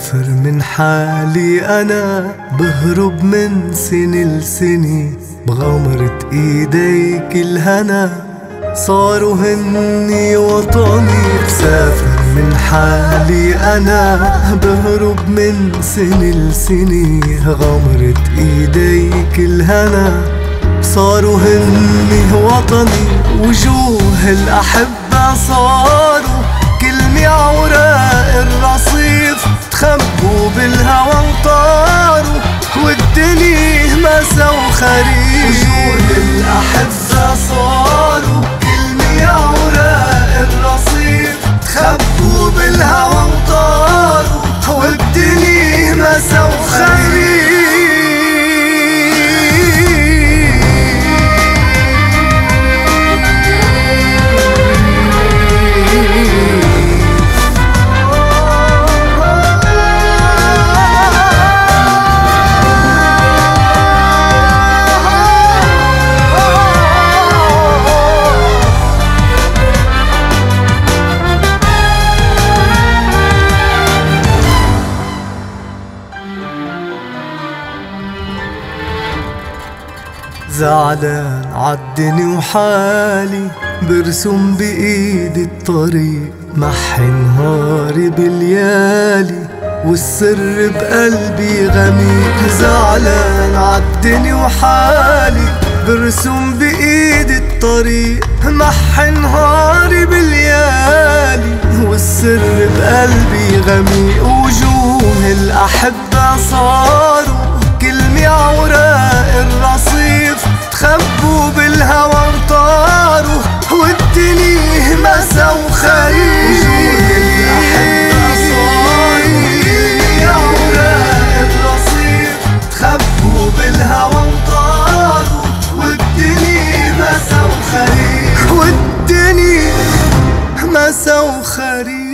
مسافر من حالي أنا، بهرب من سنة لسنة بغمرة إيديك الهنا، صاروا هني وطني. مسافر من حالي أنا، بهرب من سنة لسنة غمرة إيديك الهنا، صاروا هني وطني. وجوه الأحبة صاروا كلمة عوراق الرصيف، تخبوا بالهوى وطاروا والدنيا مسا وخريف. وجوه الأحبة صاروا كلمة عوراق الرصيف، تخبوا بالهوى وطاروا والدنيا مسا وخريف. زعلان عالدني وحالي، برسم بإيدي الطريق، محي نهاري بالليالي والسر بقلبي غميق. زعلان عالدني وحالي، برسم بإيدي الطريق، محي نهاري بالليالي والسر بقلبي غميق. وجوه الأحبة صاروا كلمة عوراق الرصيف، تخبوا بالهوى وطاروا والدنيا مسا وخريف. وجوه الأحبة صاروا كلمة عوراق الرصيف، تخبوا بالهوى وطاروا والدنيا مسا وخريف. والدنيا مسا وخريف.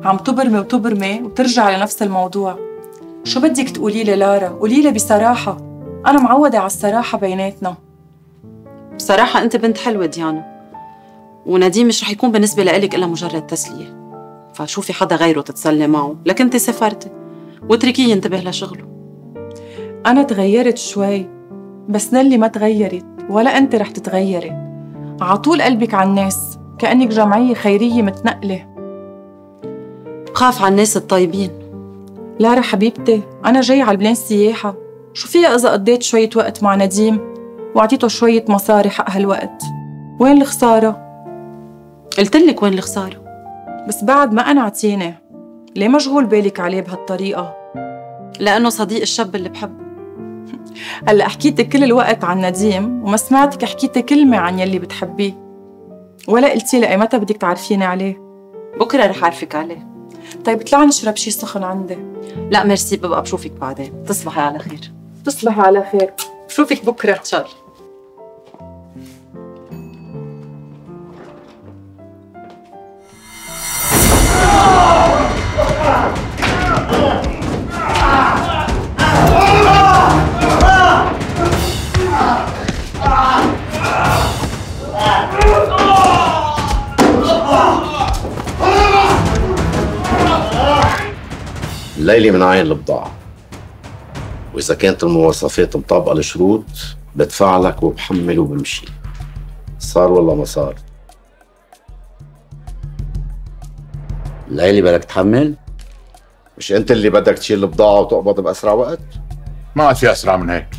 عم تبرمي وتبرمي وترجع لنفس الموضوع. شو بدك تقولي لي لارا؟ قولي لي بصراحة، أنا معودة على الصراحة بيناتنا. بصراحة أنت بنت حلوة ديانا، ونديم مش رح يكون بالنسبة لإلك إلا مجرد تسلية، فشوفي حدا غيره تتسلي معه، لكن أنت سافرتي واتركيه ينتبه لشغله. أنا تغيرت شوي، بس نلي ما تغيرت ولا أنت رح تتغيري. عطول قلبك على الناس كأنك جمعية خيرية متنقلة. بخاف على الناس الطيبين. لارا حبيبتي، أنا جاي على البلان سياحة، شو فيها إذا قضيت شوية وقت مع نديم وعطيته شوية مصاري حق هالوقت؟ وين الخسارة؟ قلتلك وين الخسارة، بس بعد ما قنعتيني. ليه مشغول بالك عليه بهالطريقة؟ لأنه صديق الشاب اللي بحبه. هلأ حكيتي كل الوقت عن نديم وما سمعتك حكيتي كلمة عن يلي بتحبيه، ولا قلتي لي متى بدك تعرفيني عليه. بكرة رح أعرفك عليه. طيب اطلعي نشرب شي سخن عندي. لا ميرسي، ببقى بشوفك بعدين. تصبحي على خير. تصبحي على خير، بشوفك بكرة إن شاء الله. الليلة من عين البضاعة، وإذا كانت المواصفات مطابقة للشروط بدفع لك وبحمل وبمشي، صار والله ما صار. الليلة بدك تحمل؟ مش أنت اللي بدك تشيل البضاعة وتقبض بأسرع وقت؟ ما عاد في أسرع من هيك.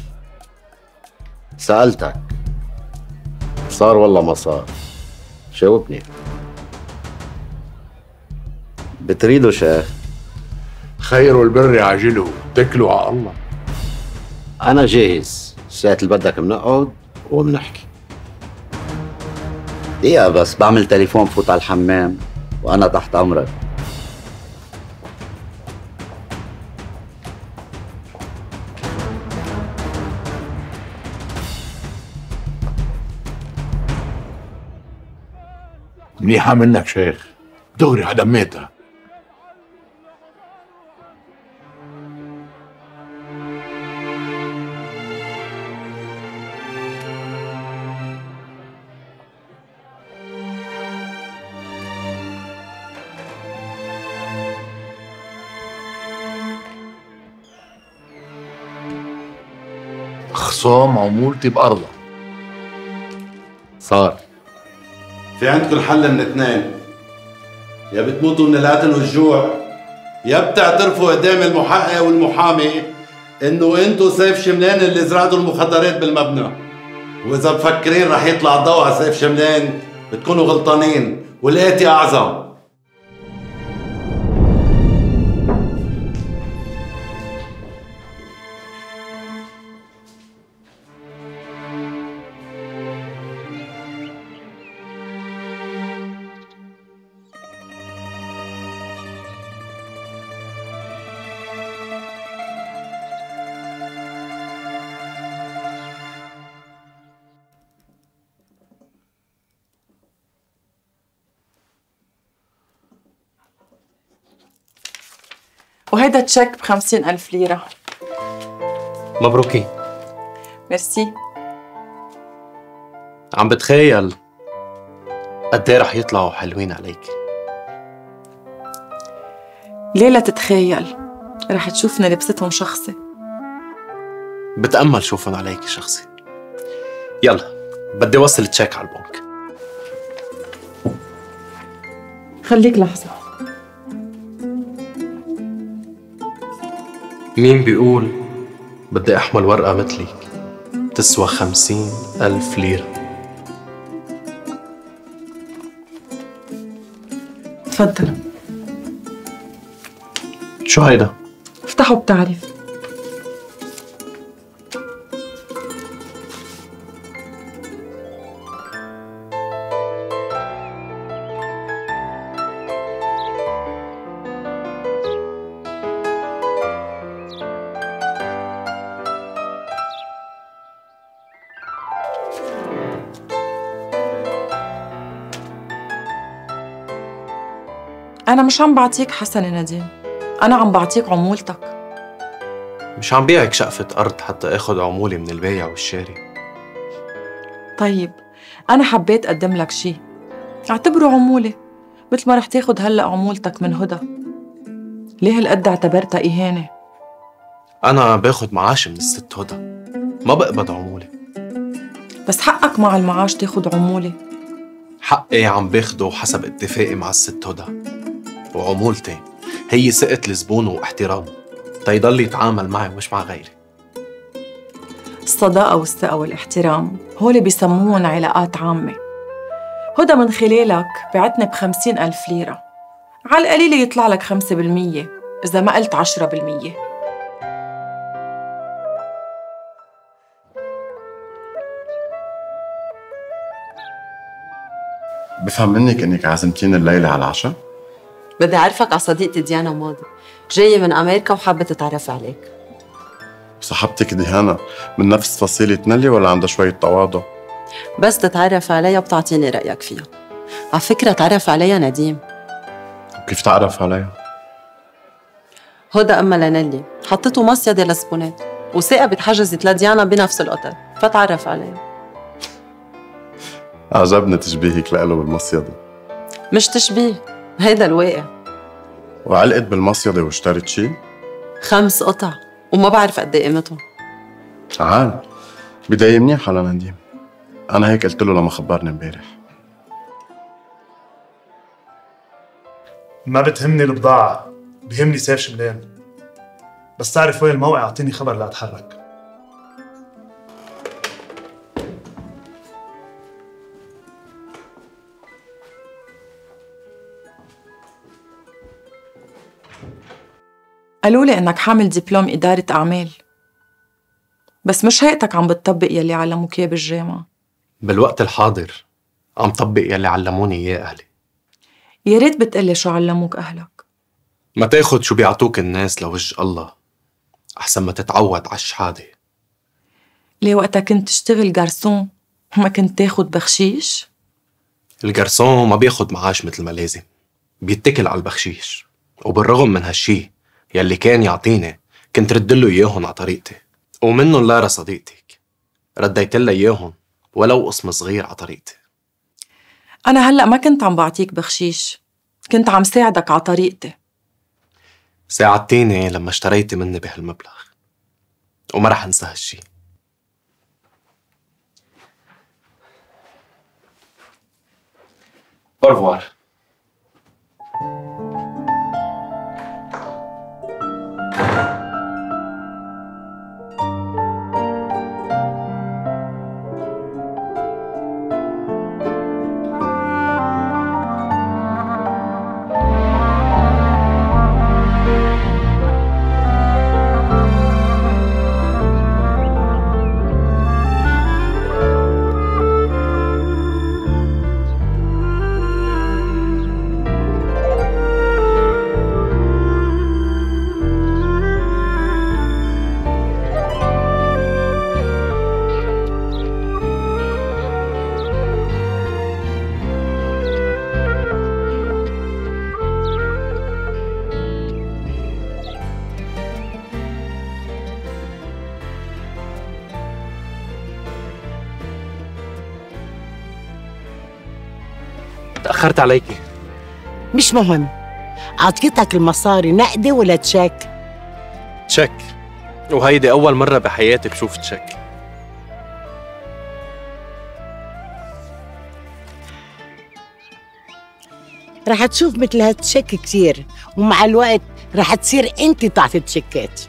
سألتك صار والله ما صار، جاوبني. بتريده شيخ؟ خير البر عاجله، اتكلوا على الله. أنا جاهز، ساعة اللي بدك منقعد ومنحكي. دقيقة بس، بعمل تليفون فوت على الحمام وأنا تحت أمرك. منيحة منك شيخ، دغري هدميتها. خصام عمولتي بأرضها. صار في عندكم حل من اثنين، يا بتموتوا من القتل والجوع، يا بتعترفوا قدام المحقق والمحامي انه انتو سيف شملان اللي زرعتوا المخدرات بالمبنى. واذا مفكرين رح يطلع الضوء على سيف شملان بتكونوا غلطانين، والآتي اعظم. وهيدا تشيك ب50,000 ليرة. مبروكين. ميرسي. عم بتخيل قد ايه رح يطلعوا حلوين عليك. ليه لا تتخيل؟ رح تشوفنا لبستهم شخصي. بتأمل شوفهم عليك شخصي. يلا بدي وصل تشيك على البنك. خليك لحظة. مين بيقول بدي أحمل ورقة مثلك تسوى 50,000 ليرة؟ تفضل. شو هيدا؟ افتحوا بتعرف. أنا مش عم بعطيك حسن يا نديم، أنا عم بعطيك عمولتك. مش عم بيعك شقفة أرض حتى آخد عمولي من البايع والشاري. طيب أنا حبيت أقدم لك شي، اعتبره عمولة، مثل ما رح تاخد هلأ عمولتك من هدى. ليه هالقد اعتبرتها إهانة؟ أنا باخد معاش من الست هدى، ما بقبض عمولة. بس حقك مع المعاش تاخد عمولة. حقي عم باخده حسب اتفاقي مع الست هدى، وعمولتي هي ثقة الزبون واحترامه تيضل يتعامل معي مش مع غيري. الصداقة والثقة والاحترام هول بيسموهم علاقات عامة. هدى من خلالك بعتني ب50,000 ليرة، على القليلة يطلع لك 5%، إذا ما قلت 10%. بفهم منك انك عازمتيني الليلة على العشاء؟ بدي أعرفك على صديقتي ديانا ماضي، جاية من أمريكا وحابة تتعرف عليك. صاحبتك ديانا من نفس فصيلة نيلي ولا عندها شوية تواضع؟ بس تتعرف عليها بتعطيني رأيك فيها. على فكرة تعرف عليها نديم. كيف تعرف عليها؟ هدى أمها لنيلي حطته مصيدة للزبونات، وثاقبت حجزت لديانا بنفس الأوتيل، فتعرف عليها. عجبني تشبيهك لإله بالمصيدة. مش تشبيه، هيدا الواقع. وعلقت بالمصيدة واشترت شي؟ 5 قطع، وما بعرف قد ايه قيمتهم. عال، بداية منيحة لنديم. أنا هيك قلت له لما خبرني امبارح. ما بتهمني البضاعة، بهمني سيف شملان. بس تعرف وين الموقع اعطيني خبر لا اتحرك. قالوا لي إنك حامل دبلوم إدارة أعمال، بس مش هيئتك عم بتطبق يلي علموك إياه بالجامعة. بالوقت الحاضر عم طبق يلي علموني إياه أهلي. يا ريت بتقلي شو علموك أهلك. ما تاخد شو بيعطوك الناس لوجه الله، أحسن ما تتعود على الشحادة. ليه وقتها كنت تشتغل جارسون ما كنت تاخد بخشيش؟ الجرسون ما بياخد معاش مثل ما لازم، بيتكل على البخشيش. وبالرغم من هالشي يلي كان يعطيني كنت ردله إياهن على طريقتي، ومنن لارا صديقتك رديتلها إياهن ولو قسم صغير على طريقتي. أنا هلأ ما كنت عم بعطيك بخشيش، كنت عم ساعدك على طريقتي. ساعدتيني لما اشتريتي مني بهالمبلغ، وما رح انسى هالشي. أورفوار. تأخرت عليكي. مش مهم. عطيتك المصاري نقدي ولا تشيك؟ تشيك، وهيدي أول مرة بحياتي بشوف تشيك. رح تشوف مثل هالتشيك كتير، ومع الوقت رح تصير انت تعطي تشيكات.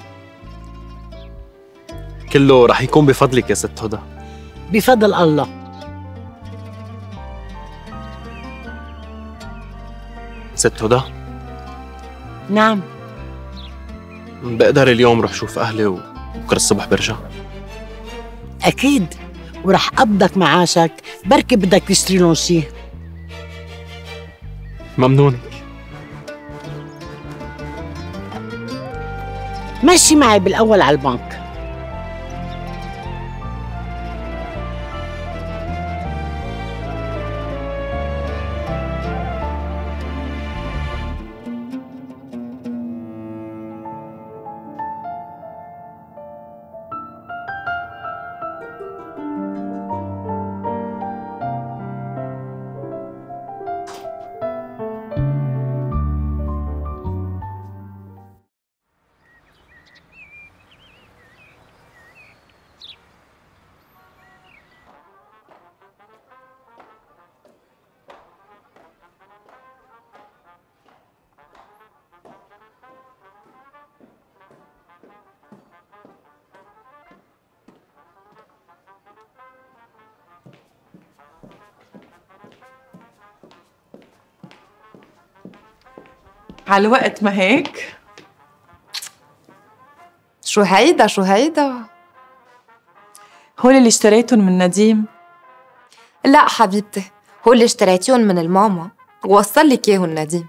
كله رح يكون بفضلك يا ست هدى. بفضل الله. ست هدى؟ نعم. بقدر اليوم روح شوف أهلي وبكرة الصبح برجع؟ أكيد، ورح قبضك معاشك، بركي بدك تشتري لهم شي. ممنونك. مشي معي بالأول على البنك. على الوقت ما هيك؟ شو هيدا؟ هول اللي اشتريتهم من نديم؟ لا حبيبتي، هول اللي اشتريتيهم من الماما ووصل لك اياهم نديم.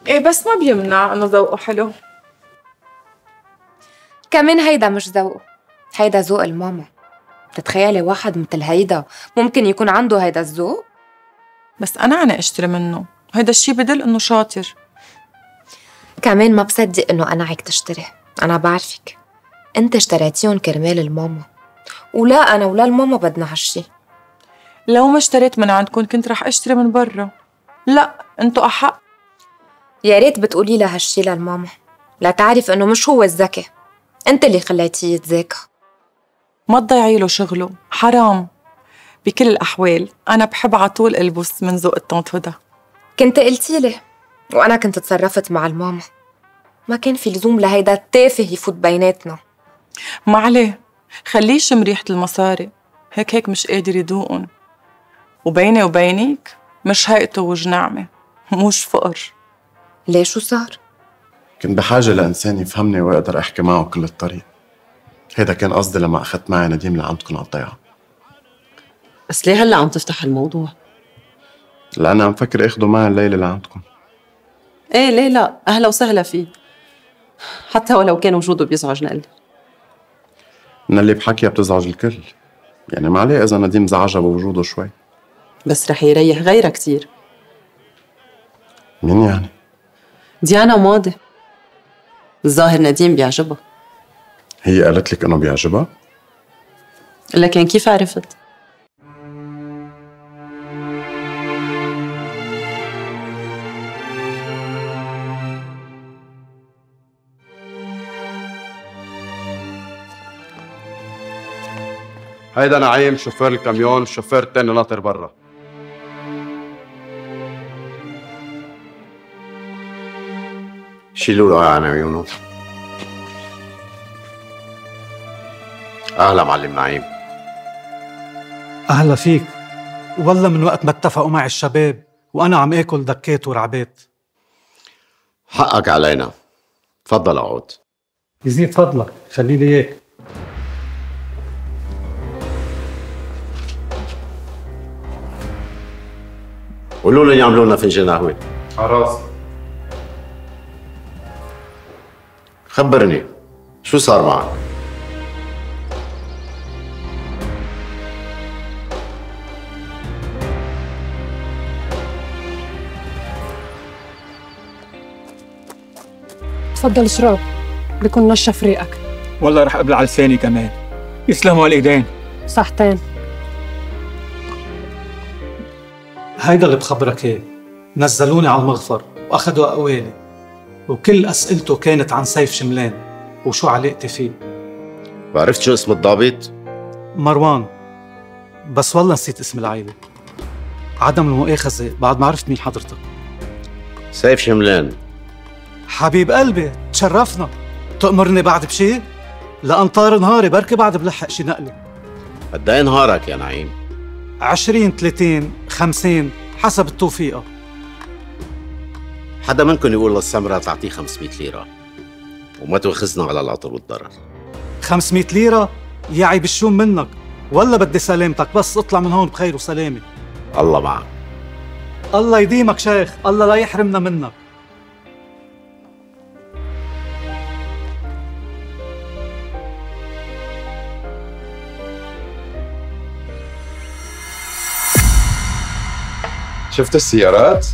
ايه بس ما بيمنع انه ذوقه حلو. كمان هيدا مش ذوقه، هيدا ذوق الماما. بتتخيلي واحد مثل هيدا ممكن يكون عنده هيدا الذوق؟ بس أنا اشتري منه، هيدا الشي بدل إنه شاطر. كمان ما بصدق إنه قنعك تشتري، أنا بعرفك. أنت اشتريتيهم كرمال الماما، ولا أنا ولا الماما بدنا هالشي. لو ما اشتريت من عندكم كنت رح اشتري من برا. لا، انتو أحق. يا ريت بتقولي لها هالشي للماما، لا تعرف إنه مش هو الذكي، أنت اللي خليتيه يتذاكى. ما تضيعي له شغله، حرام. بكل الأحوال أنا بحب عطول ألبس من ذوق الطنط هدى. كنت قلتي لي وأنا كنت تصرفت مع الماما، ما كان في لزوم لهيدا التافه يفوت بيناتنا. ما عليه، خليه يشم ريحة المصاري، هيك مش قادر يدوقن. وبيني وبينك مش هيئته وجه نعمة، مش فقر. ليه شو صار؟ كنت بحاجة لإنسان يفهمني وأقدر أحكي معه كل الطريق. هيدا كان قصدي لما أخذت معي نديم لعندكم على الضيعة. بس ليه هلا عم تفتح الموضوع؟ لأن عم فكر أخده معي الليلة لعندكم. ايه ليه لا، أهلا وسهلا فيه، حتى ولو كان وجوده بيزعج نقلي. من اللي بحكيها بتزعج الكل، يعني ما عليه إذا نديم زعجها بوجوده شوي. بس رح يريح غيرها كتير. مين يعني؟ ديانا وماضي. الظاهر نديم بيعجبها. هي قالت لك إنه بيعجبها؟ لكن كيف عرفت؟ هيدا نعيم شوفير الكاميون، الشوفير التاني ناطر برا. شيلوا له عن عيونه. اهلا معلم نعيم. أهلا فيك. والله من وقت ما اتفقوا معي الشباب وأنا عم آكل دكات ورعبات. حقك علينا. تفضل اقعد. يزيد فضلك، خلي لي إياك. قولوا لهم يعملوا لنا فنجان قهوة. على راسي. خبرني شو صار معك؟ تفضل اشرب، بكون نشف ريقك. والله رح ابلع لساني كمان. يسلموا على الايدين. صحتين. هيدا اللي بخبرك اياه. نزلوني على المغفر واخذوا اقوالي، وكل اسئلته كانت عن سيف شملان وشو علاقتي فيه. وعرفت شو اسم الضابط؟ مروان، بس والله نسيت اسم العائلة. عدم المؤاخذة بعد ما عرفت مين حضرتك. سيف شملان. حبيب قلبي، تشرفنا. تأمرني بعد بشي؟ لأنطار نهاري بركي بعد بلحق شي نقلة. قد ايه نهارك يا نعيم؟ 20 30 50 حسب التوفيقة. حدا منكم يقول للسمرة تعطيه 500 ليرة وما تواخذنا على العطر والضرر. 500 ليرة؟ يا عيب الشوم منك، ولا بدي سلامتك، بس اطلع من هون بخير وسلامة. الله معك. الله يديمك شيخ، الله لا يحرمنا منك. شفت السيارات؟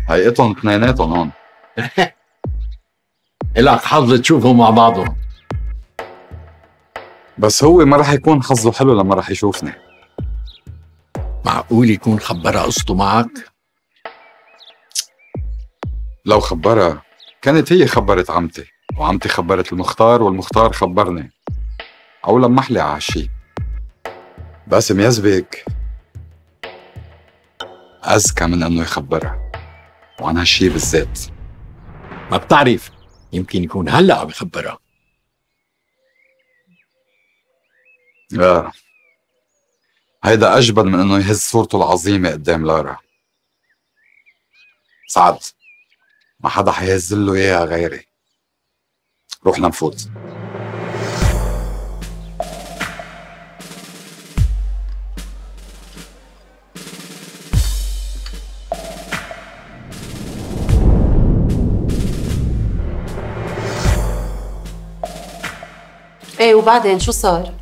هيئتهم اثنيناتهم هون. إلك حظ تشوفهم مع بعضهم. بس هو ما رح يكون حظه حلو لما رح يشوفني. معقول يكون خبرها قصته معك؟ لو خبرها كانت هي خبرت عمتي، وعمتي خبرت المختار، والمختار خبرني. أو لمح لي على هالشي. باسم يزبك أذكى من إنه يخبرها، وعن هالشي بالذات. ما بتعرف، يمكن يكون هلأ عم يخبرها. لا، هيدا أجبن من إنه يهز صورته العظيمة قدام لارا. سعد، ما حدا حيهز له إياها غيري. روح لنفوت. ايه وبعدين شو صار؟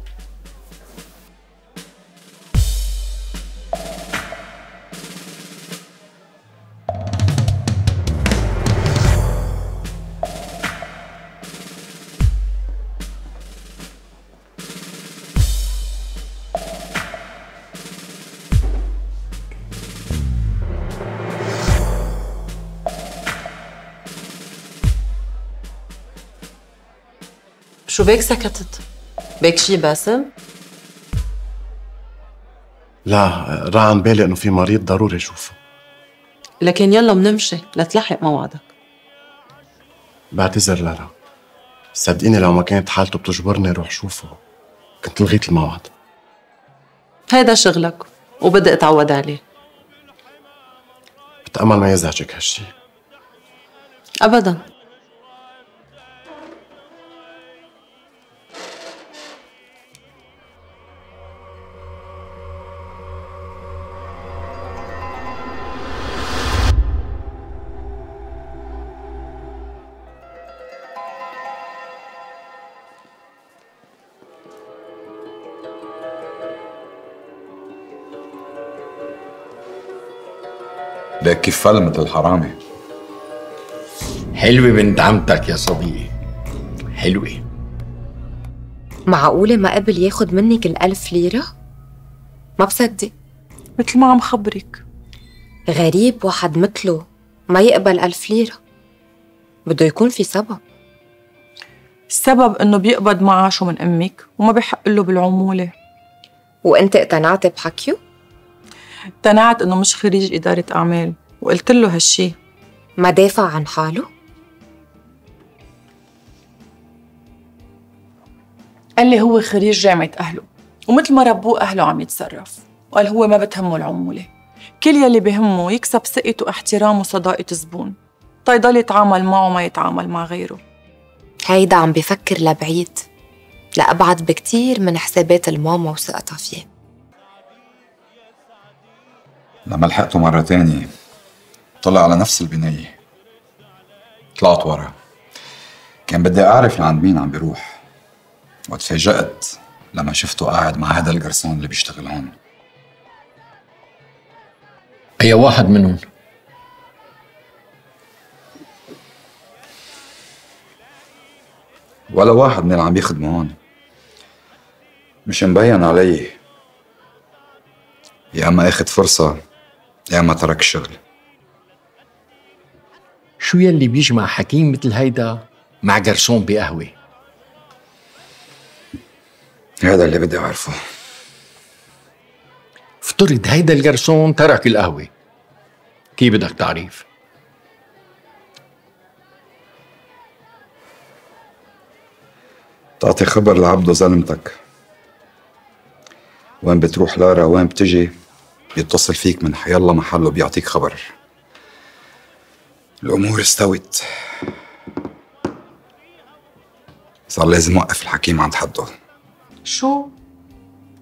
شو بيك سكتت؟ بيك شي باسم؟ لا، راح عن بالي انه في مريض ضروري اشوفه. لكن يلا منمشي لتلحق موعدك. بعتذر لارا، صدقيني لو ما كانت حالته بتجبرني روح شوفه كنت لغيت الموعد. هيدا شغلك وبدي اتعود عليه. بتأمل ما يزعجك هالشي. ابدا. ليك كيف فل مثل الحرامي. حلوة بنت عمتك يا صديقي، حلوة. معقولة ما قبل ياخد منك 1000 ليرة؟ ما بصدق. مثل ما عم خبرك. غريب واحد مثله ما يقبل 1000 ليرة. بده يكون في سبب. السبب إنه بيقبض معاشه من أمك وما بيحق له بالعمولة. وأنت اقتنعت بحكيه؟ اقتنعت إنه مش خريج إدارة أعمال وقلت له هالشي. ما دافع عن حاله؟ قال لي هو خريج جامعة أهله ومثل ما ربوه أهله عم يتصرف، وقال هو ما بتهمه العمولة، كل يلي بهمه يكسب ثقة واحترام وصداقة الزبون تيضل يتعامل معه ما يتعامل مع غيره. هيدا عم بفكر لبعيد، لأبعد بكتير من حسابات الماما وثقتها فيه. لما لحقته مرة تانية طلع على نفس البناية. طلعت ورا، كان بدي أعرف لعند مين عم بيروح، وتفاجأت لما شفته قاعد مع هذا الجرسون اللي بيشتغل هون. أي واحد منهم؟ ولا واحد من اللي عم يخدموا هون، مش مبين علي. يا اما اخد فرصة يا اما ترك الشغل. شو يلي بيجمع حكيم مثل هيدا مع جرسون بقهوة؟ هذا اللي بدي اعرفه. افترض هيدا الجرسون ترك القهوة، كيف بدك تعرف؟ تعطي خبر لعبده زلمتك، وين بتروح لارا وين بتجي بيتصل فيك من حيالله محله بيعطيك خبر. الأمور استوت، صار لازم وقف الحكيم عند حده. شو؟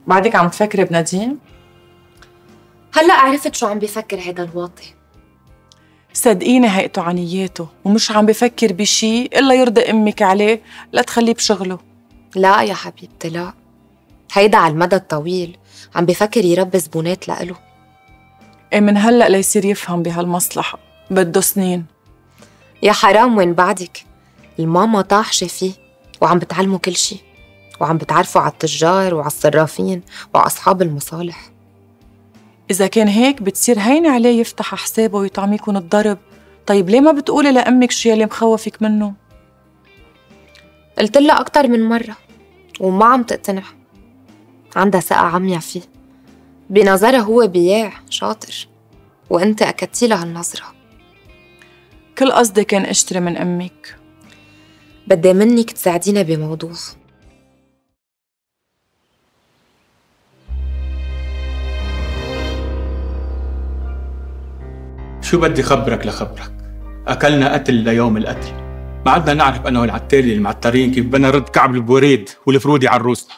بعدك عم تفكري بنديم؟ هلأ عرفت شو عم بيفكر هيدا الواطي. صدقيني هيئته عنياته ومش عم بفكر بشي إلا يرضي أمك عليه لا تخليه بشغله. لا يا حبيبتي لا، هيدا على المدى الطويل عم بفكر يربي زبونات لإله. إيه من هلأ ليصير يفهم بهالمصلحة بده سنين. يا حرام وين بعدك، الماما طاحشة فيه وعم بتعلمه كل شي، وعم بتعرفه على التجار وعلى الصرافين وعلى أصحاب المصالح. إذا كان هيك بتصير هين عليه يفتح حسابه ويطعميكن الضرب. طيب ليه ما بتقولي لأمك شو يلي مخوفك منه؟ قلت لها أكتر من مرة وما عم تقتنع. عندها ثقة عميا فيه، بنظرها هو بياع شاطر، وأنت أكدتي لها هالنظرة. كل قصدي كان أشتري من أمك. بدي منك تساعدينا بموضوع. شو بدي خبرك لخبرك؟ أكلنا قتل ليوم القتل، ما عدنا نعرف أنا والعتالي المعترين كيف بدنا نرد كعب البوريد والفرودي على الروسنا،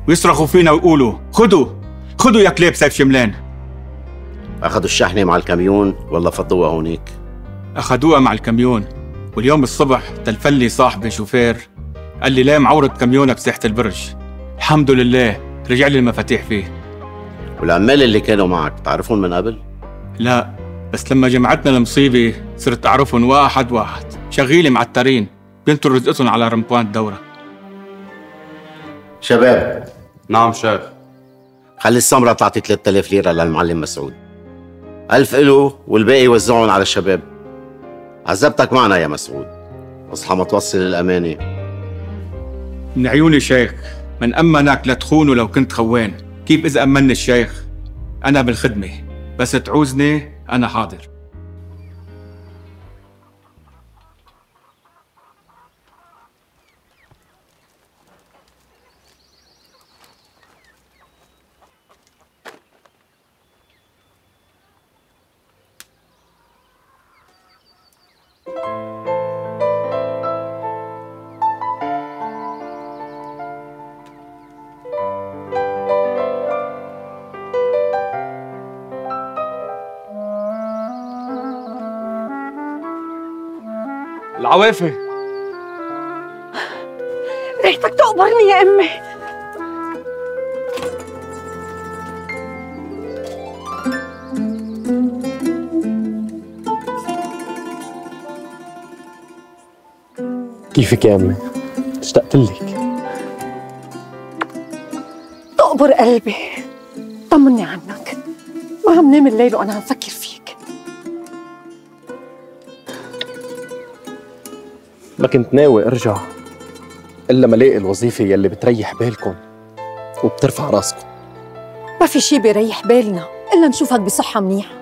ويصرخوا فينا ويقولوا خدوا يا كليب سيف شملان. أخذوا الشحنة مع الكاميون ولا فضوها هونيك؟ أخذوها مع الكاميون، واليوم الصبح تلفلي صاحبي شوفير قال لي ليه معورة كاميونك بساحة البرج. الحمد لله رجع لي المفاتيح فيه. والعمال اللي كانوا معك تعرفون من قبل؟ لا، بس لما جمعتنا المصيبة صرت أعرفهم واحد واحد، شغيلي معترين بينطروا رزقتهم على رمبوان الدورة. شباب. نعم شيخ. خلي السمرة تعطي 3000 ليرة للمعلم مسعود، 1000 إله والباقي وزعهم على الشباب. عذبتك معنا يا مسعود، اصحى ما توصل الأمانة. من عيوني شيخ، من أمنك لا تخونه لو كنت خوان. كيف إذا أمني الشيخ؟ أنا بالخدمة، بس تعوزني أنا حاضر. العوافي. ريحتك تقبرني يا امي. كيفك يا امي؟ اشتقت لك. تقبر قلبي. طمني عنك، ما عم نام الليل وانا عم فكر فيك. ما كنت ناوي ارجع، إلا ما لاقي الوظيفة يلي بتريح بالكم وبترفع راسكم. ما في شي بيريح بالنا إلا نشوفك بصحة منيحة.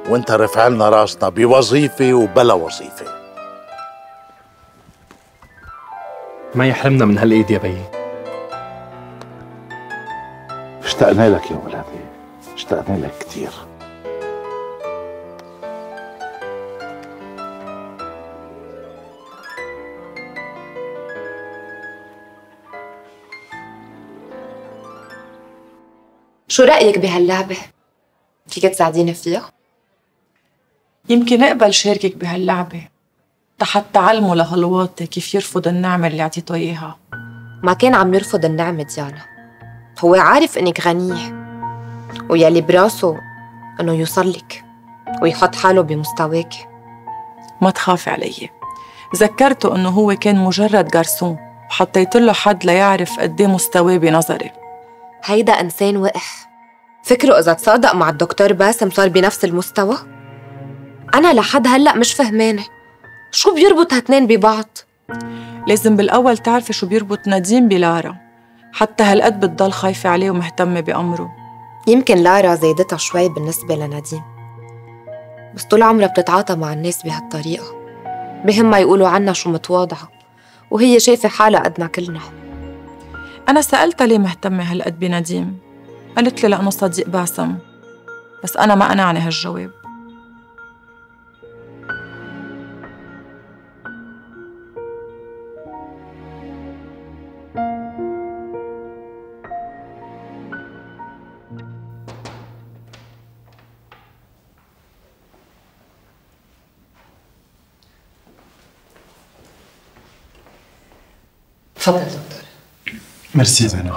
وانت رفع لنا راسنا بوظيفة وبلا وظيفة. ما يحرمنا من هالإيد يا بيي. اشتقنا لك يا ولدي، اشتقنا لك كتير. شو رأيك بهاللعبة؟ فيك تساعديني فيها؟ يمكن اقبل شاركك بهاللعبة حتى تعلموا لهالواطي كيف يرفض النعمة اللي عطيته إياها. ما كان عم يرفض النعمة ديانا، هو عارف إنك غنية ويلي براسه إنه يوصلك ويحط حاله بمستواك. ما تخافي علي، ذكرته إنه هو كان مجرد جرسون وحطيت له حد ليعرف قد ايه مستواه بنظري. هيدا إنسان وقح، فكره إذا تصادق مع الدكتور باسم صار بنفس المستوى؟ أنا لحد هلأ مش فهمانة شو بيربط هاتنين ببعض. لازم بالأول تعرفي شو بيربط نديم بلارا، حتى هالقد بتضل خايفة عليه ومهتمة بأمره. يمكن لارا زيدتها شوي بالنسبة لنديم، بس طول عمرها بتتعاطى مع الناس بهالطريقة، بهمها يقولوا عنها شو متواضعة وهي شايفة حالها قدنا كلنا. أنا سألتها ليه مهتمة هالقد بنديم، قالت لي لأنه صديق باسم، بس أنا ما قنعني هالجواب. تفضل دكتور. ميرسي زينب.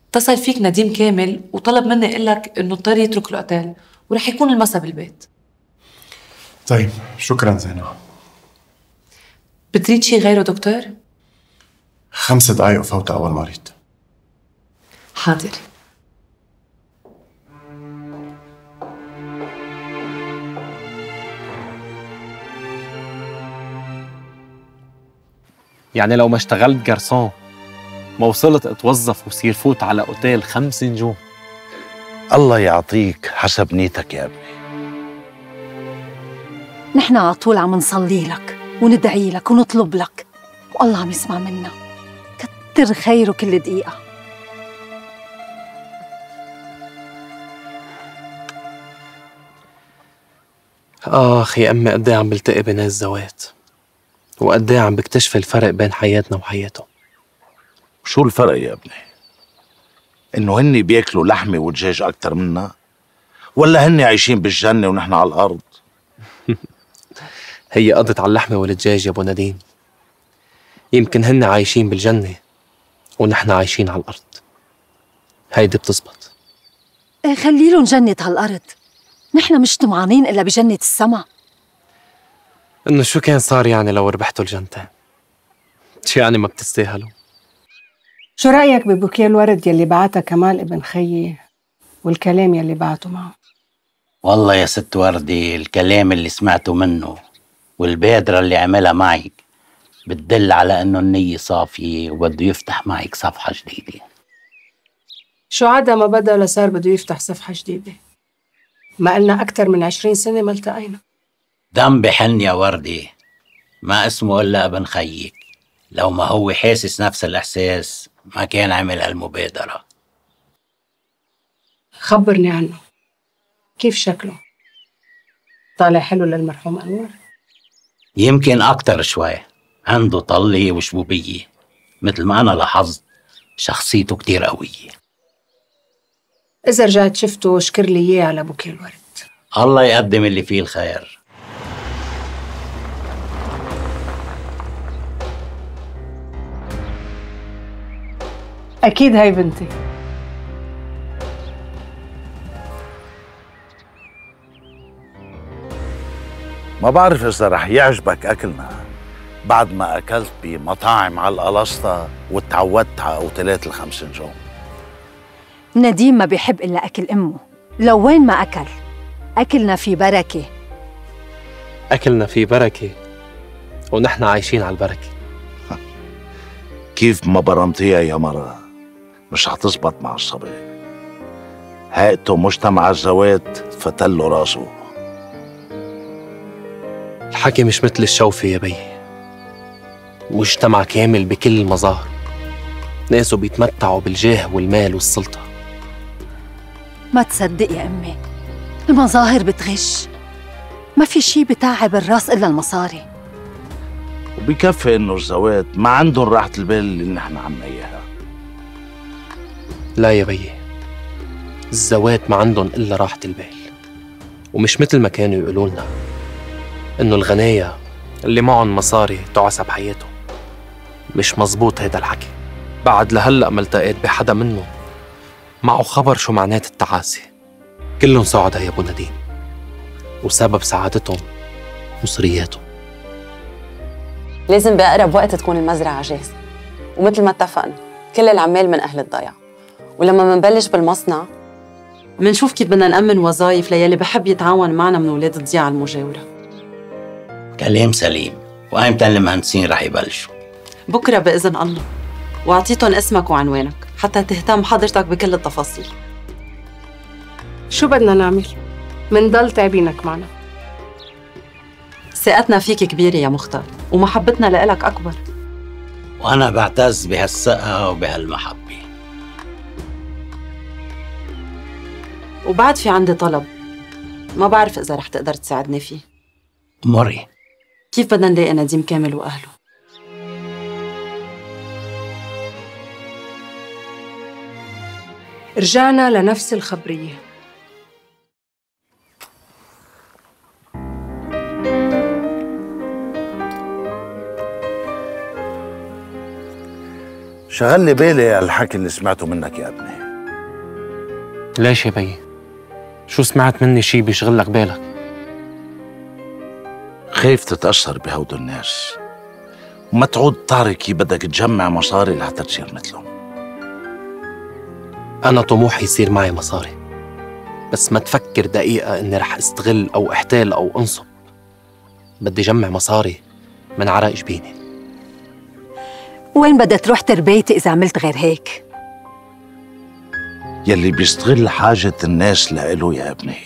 اتصل فيك نديم كامل وطلب مني اقول لك انه اضطر يترك الاوتيل ورح يكون المسا بالبيت. طيب شكرا زينب. بتريد شي غيره دكتور؟ 5 دقايق وفوت أول مريض. حاضر. يعني لو ما اشتغلت جرسون ما وصلت اتوظف وصير فوت على اوتيل 5 نجوم. الله يعطيك حسب نيتك يا ابني. نحن على طول عم نصلي لك وندعي لك ونطلب لك، والله عم يسمع منا. كتر خيره كل دقيقة. آخ يا أمي، قد ايه عم بلتقي بناس زوات وقد ايه عم بكتشف الفرق بين حياتنا وحياتهم. شو الفرق يا ابني؟ إنه هني بياكلوا لحمة ودجاج أكتر منا؟ ولا هني عايشين بالجنة ونحن على الأرض؟ هي قضت على اللحمة والدجاج يا أبو نديم. يمكن هن عايشين بالجنة ونحن عايشين على الأرض. هيدي بتزبط. خليلن جنة هالأرض، نحن مش طمعانين إلا بجنة السما. إنه شو كان صار يعني لو ربحتوا الجنتين؟ شو يعني ما بتستاهلوا؟ شو رأيك ببوكيه الورد يلي بعتها كمال ابن خيي والكلام يلي بعته معه؟ والله يا ست وردي، الكلام اللي سمعته منه والبادرة اللي عملها معك بتدل على انه النية صافية وبده يفتح معك صفحة جديدة. شو عدا ما بدأ لصار بده يفتح صفحة جديدة؟ ما قلنا أكتر من 20 سنة ما التقينا. دم بحن يا وردي، ما اسمه إلا ابن خيك. لو ما هو حاسس نفس الإحساس ما كان عمل هالمبادرة. خبرني عنه، كيف شكله؟ طالع حلو للمرحوم أنور؟ يمكن أكتر شوي، عنده طلة وشبوبية، مثل ما أنا لاحظت شخصيته كتير قوية. إذا رجعت شفته اشكر لي إياه على بوكيه الورد. الله يقدم اللي فيه الخير. أكيد هاي بنتي. ما بعرف إذا رح يعجبك أكلنا بعد ما أكلت بمطاعم على القلسطة وتعودت على أوتيلات ال5 نجوم. نديم ما بيحب إلا أكل أمه، لو وين ما أكل أكلنا في بركة. أكلنا في بركة ونحن عايشين على البركة. كيف ما برمتيها يا مرة مش هتزبط مع الصبي. هيئته مجتمع الزوات فتله راسه. الحكي مش مثل الشوفة يا بي، مجتمع كامل بكل المظاهر، ناسه بيتمتعوا بالجاه والمال والسلطة. ما تصدق يا أمي، المظاهر بتغش، ما في شي بتاعب الراس إلا المصاري. وبكفي انه الزوات ما عندهم راحة البال اللي نحن عنا اياها. لا يا بي، الزوات ما عندهم إلا راحة البال، ومش مثل ما كانوا يقولوا لنا إنه الغناية اللي معهم مصاري تعسى بحياتهم. مش مزبوط هيدا الحكي. بعد لهلأ ما التقيت بحدا منهم معه خبر شو معنات التعاسة. كلهم سعداء يا أبو نديم، وسبب سعادتهم مصرياتهم. لازم بأقرب وقت تكون المزرعة جاهزة، ومثل ما اتفقنا كل العمال من أهل الضيعة، ولما منبلش بالمصنع منشوف كيف بدنا نأمن وظايف ليلي بحب يتعاون معنا من ولاد الضيعة المجاورة. كلام سليم. وأيمتى المهندسين رح يبلشوا؟ بكرة بإذن الله، وأعطيتهم اسمك وعنوانك حتى تهتم حضرتك بكل التفاصيل. شو بدنا نعمل؟ منضل تعبينك معنا. ثقتنا فيك كبيرة يا مختار، ومحبتنا لإلك أكبر. وأنا بعتز بهالثقة وبهالمحبة. وبعد في عندي طلب، ما بعرف إذا رح تقدر تساعدني فيه. مري. كيف بدنا نلاقي نديم كامل وأهله؟ رجعنا لنفس الخبرية. شغل لي بالي هالحكي اللي سمعته منك يا ابني. ليش يا بي؟ شو سمعت مني شي بيشغلك بالك؟ خايف تتأثر بهود الناس وما تعود تعرف كيف بدك تجمع مصاري لحتى تصير مثلهم. أنا طموحي يصير معي مصاري، بس ما تفكر دقيقة إني رح استغل أو احتال أو أنصب. بدي جمع مصاري من عرق جبيني. وين بدها تروح تربيتي إذا عملت غير هيك؟ يلي بيستغل حاجة الناس لإله يا ابني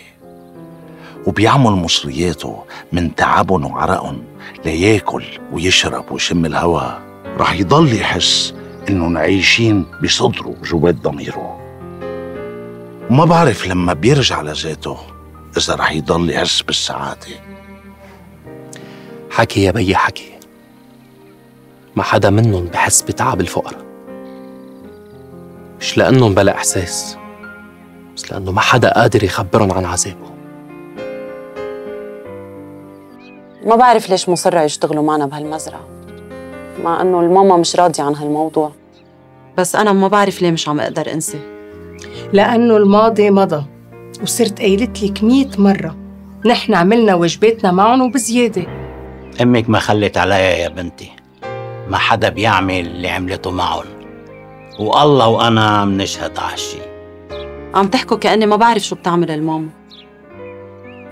وبيعمل مصرياته من تعبهم وعرقهم لياكل ويشرب ويشم الهوا، رح يضل يحس إنهم عايشين بصدره جوات ضميره. وما بعرف لما بيرجع لذاته إذا رح يضل يحس بالسعادة. حكي يا بي حكي، ما حدا منهم بحس بتعب الفقراء، مش لأنهم بلا إحساس، بس لأنه ما حدا قادر يخبرهم عن عذابه. ما بعرف ليش مصرة يشتغلوا معنا بهالمزرعة، مع إنه الماما مش راضية عن هالموضوع، بس أنا ما بعرف ليه مش عم أقدر أنسى. لأنه الماضي مضى، وصرت قايلت لك 100 مرة نحن عملنا واجباتنا معهم وبزيادة. أمك ما خلت عليا يا بنتي، ما حدا بيعمل اللي عملته معهم، والله وأنا منشهد عالشي. عم تحكوا كأني ما بعرف شو بتعمل الماما.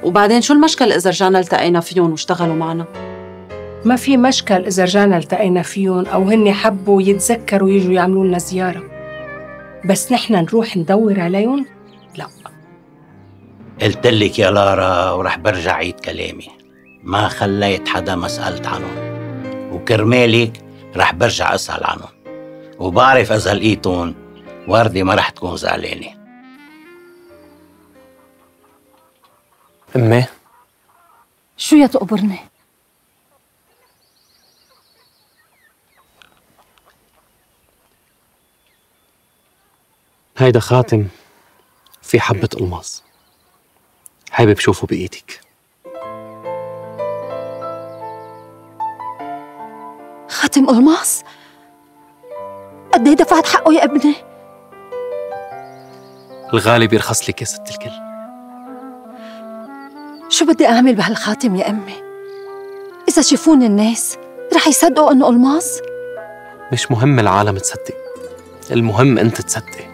وبعدين شو المشكل إذا رجعنا التقينا فيهم واشتغلوا معنا؟ ما في مشكل إذا رجعنا التقينا فيهم أو هن حبوا يتذكروا يجوا يعملوا لنا زيارة، بس نحن نروح ندور عليهم؟ لا. قلت لك يا لارا ورح برجع عيد كلامي، ما خليت حدا ما سألت عنهم، وكرمالك رح برجع أسأل عنهم، وبعرف إذا لقيتهم وردي ما رح تكون زعلانة. أمي شو يا تقبرني؟ هيدا خاتم في حبة ألماس، حابب شوفه بإيدك. خاتم ألماس؟ قد ايه دفعت حقه يا ابني؟ الغالي بيرخص لك يا ست الكل. شو بدي أعمل بهالخاتم يا أمي؟ إذا شافوني الناس رح يصدقوا إنه ألماس؟ مش مهم العالم تصدق، المهم أنت تصدق.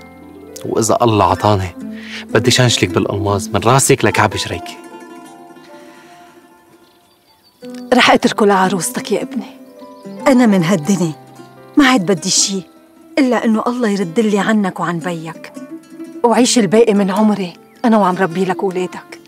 وإذا الله عطاني بدي شنشلك بالألماس من راسك لكعب جريكي. رح اتركه لعروستك يا ابني. أنا من هالدنيا ما عاد بدي شي إلا إنه الله يردلي عنك وعن بيك، وعيش الباقي من عمري أنا وعم ربي لك أولادك.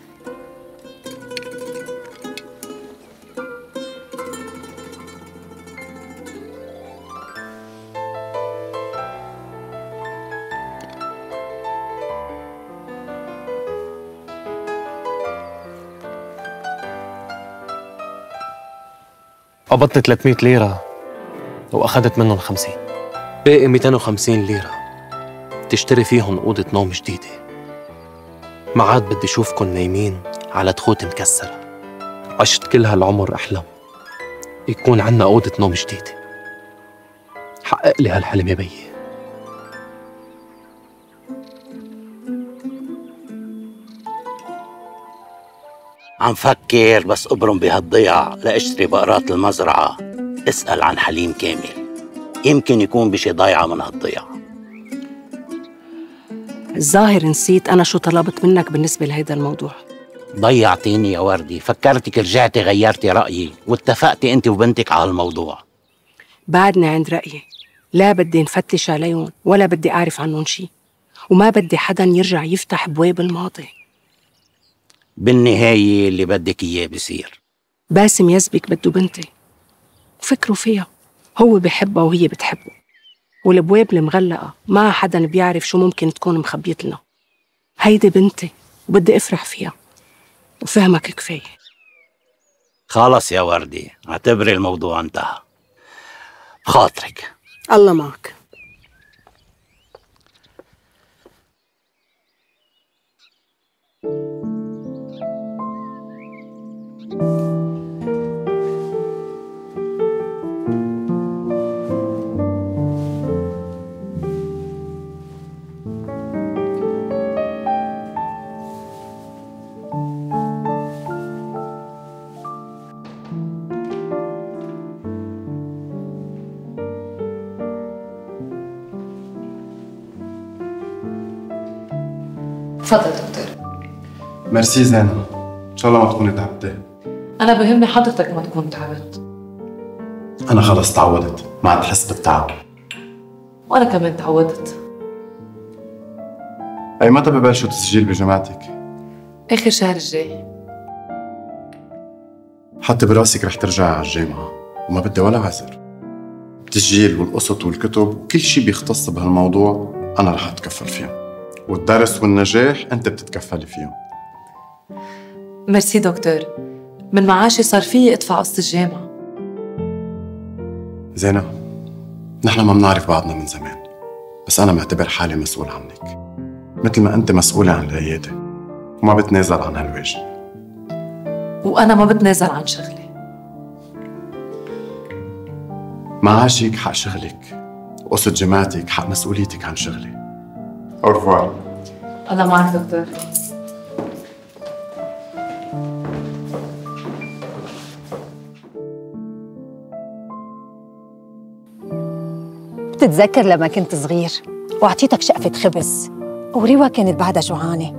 قبضت 300 ليرة وأخذت منهم 50، باقي 250 ليرة تشتري فيهم أوضة نوم جديدة. ما عاد بدي أشوفكن نايمين على تخوت مكسرة. عشت كل هالعمر أحلم يكون عنا أوضة نوم جديدة. حقق لي هالحلم يا بيي. عم فكر بس أبرم بهالضيعة لأشتري بقرات المزرعة. اسأل عن حليم كامل، يمكن يكون بشي ضايعة من هالضيعة. الظاهر نسيت أنا شو طلبت منك بالنسبة لهيدا الموضوع. ضيعتيني يا وردي، فكرتك رجعتي غيرتي رأيي واتفقتي أنت وبنتك على الموضوع. بعدني عند رأيي، لا بدي نفتش عليهم ولا بدي أعرف عنهم شي، وما بدي حدا يرجع يفتح بواب الماضي. بالنهاية اللي بدك إياه بصير. باسم يزبك بده بنتي وفكروا فيها، هو بحبها وهي بتحبه، والابواب المغلقة ما حدا بيعرف شو ممكن تكون مخبيت لنا. هيدي بنتي وبدي افرح فيها وفهمك كفاية. خلص يا وردي، اعتبري الموضوع انتهى. بخاطرك. الله معك. تفضل دكتور. ميرسي زينة، إن شاء الله ما تكوني تعبتي. أنا بهمني حضرتك ما تكون تعبت. أنا خلص تعودت، ما عاد بحس بالتعب. وأنا كمان تعودت. أي متى ببلشوا تسجيل بجامعتك؟ آخر شهر الجاي. حتى براسك رح ترجعي على الجامعة وما بدي ولا عذر. التسجيل والقسط والكتب وكل شي بيختص بهالموضوع أنا رح أتكفل فيهم، والدرس والنجاح أنت بتتكفلي فيهم. ميرسي دكتور، من معاشي صار فيي ادفع قسط الجامعة. زينة، نحن ما بنعرف بعضنا من زمان، بس أنا معتبر حالي مسؤول عنك مثل ما أنت مسؤولة عن العيادة، وما بتنازل عن هالواجب. وأنا ما بتنازل عن شغلي. معاشك حق شغلك، وقسط جامعتك حق مسؤوليتك عن شغلي. أورفوار. الله معك دكتور. بتتذكر لما كنت صغير وأعطيتك شقفة خبز وريوة كانت بعدها جوعانة،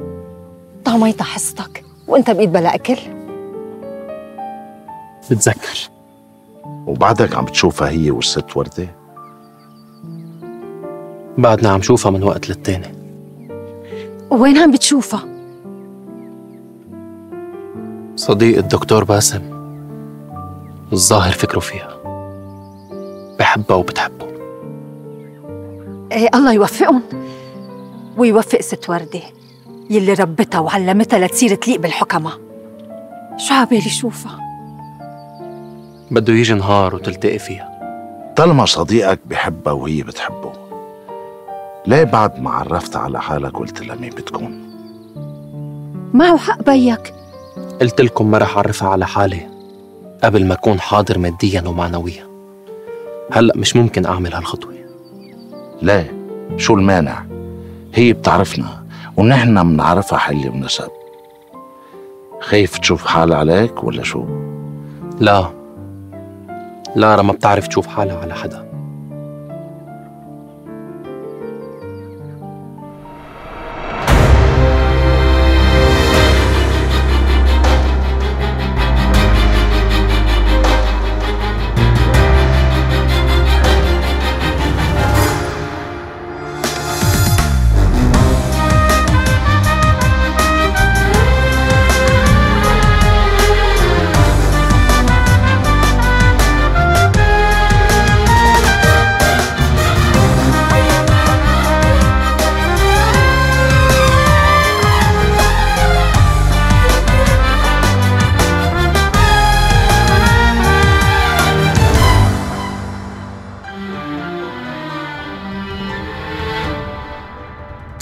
طعميتها حصتك وانت بإيد بلا أكل؟ بتذكر. وبعدك عم بتشوفها هي والست وردة؟ بعدنا عم شوفها من وقت للتاني. وين عم بتشوفها؟ صديق الدكتور باسم الظاهر فكره فيها، بحبها وبتحبه. ايه الله يوفقهم ويوفق ست وردة يلي ربتها وعلمتها لتصير تليق بالحكمة. شو عبالي شوفها؟ بده يجي نهار وتلتقي فيها. طالما صديقك بحبها وهي بتحبه، ليه بعد ما عرفتها على حالك قلت لها مين بتكون؟ معه حق بيك. قلت لكم ما رح أعرفها على حالي قبل ما أكون حاضر مادياً ومعنوياً. هلأ مش ممكن أعمل هالخطوة. ليه؟ شو المانع؟ هي بتعرفنا ونحن منعرفها حل ونسب. خايف تشوف حالها عليك ولا شو؟ لا، لارا ما بتعرف تشوف حالها على حدا.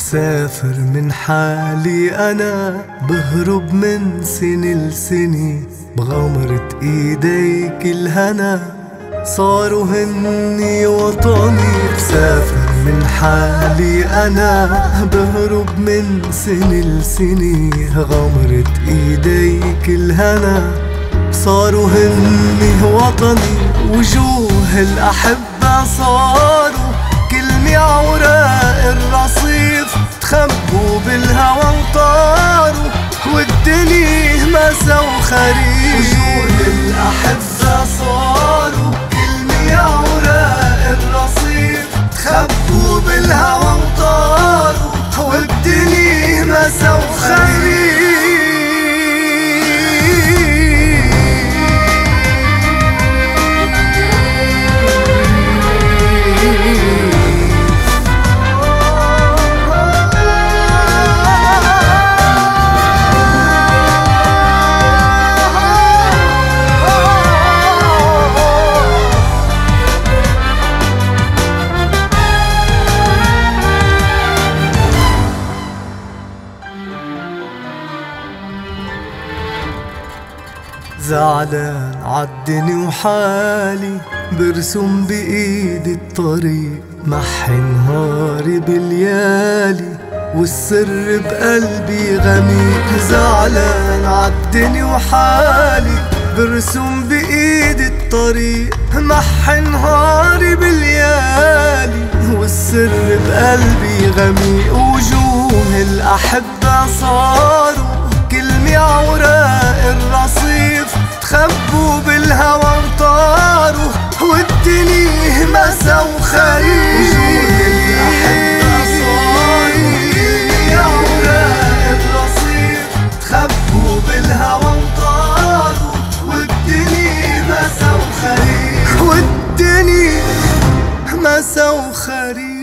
مسافر من حالي أنا، بهرب من سنة لسنة، بغمرة إيديك الهنا صاروا هني وطني. مسافر من حالي أنا، بهرب من سنة لسنة، غمرة إيديك الهنا صاروا هني وطني. وجوه الأحبة صاروا كلمة عوراق الرصيف، تخبوا بالهوى وطاروا والدنيا مسا وخريف. وجوه الأحبة صاروا كلمة عوراق الرصيف، تخبوا بالهوى وطاروا والدنيا مسا وخريف. زعلان عالدنيا وحالي، برسم بإيدي الطريق، محي نهاري بالليالي والسر بقلبي غميق. زعلان عالدنيا وحالي، برسم بإيدي الطريق، محي نهاري بالليالي والسر بقلبي غميق. وجوه الأحبة صاروا كلمة عوراق الرصيف، تخبوا بالهوى وطاروا والدنيا مسا وخريف. وجوه الأحبة صاروا كلمة عوراق الرصيف، تخبوا بالهوى وطاروا والدنيا مسا وخريف. والدنيا مسا وخريف.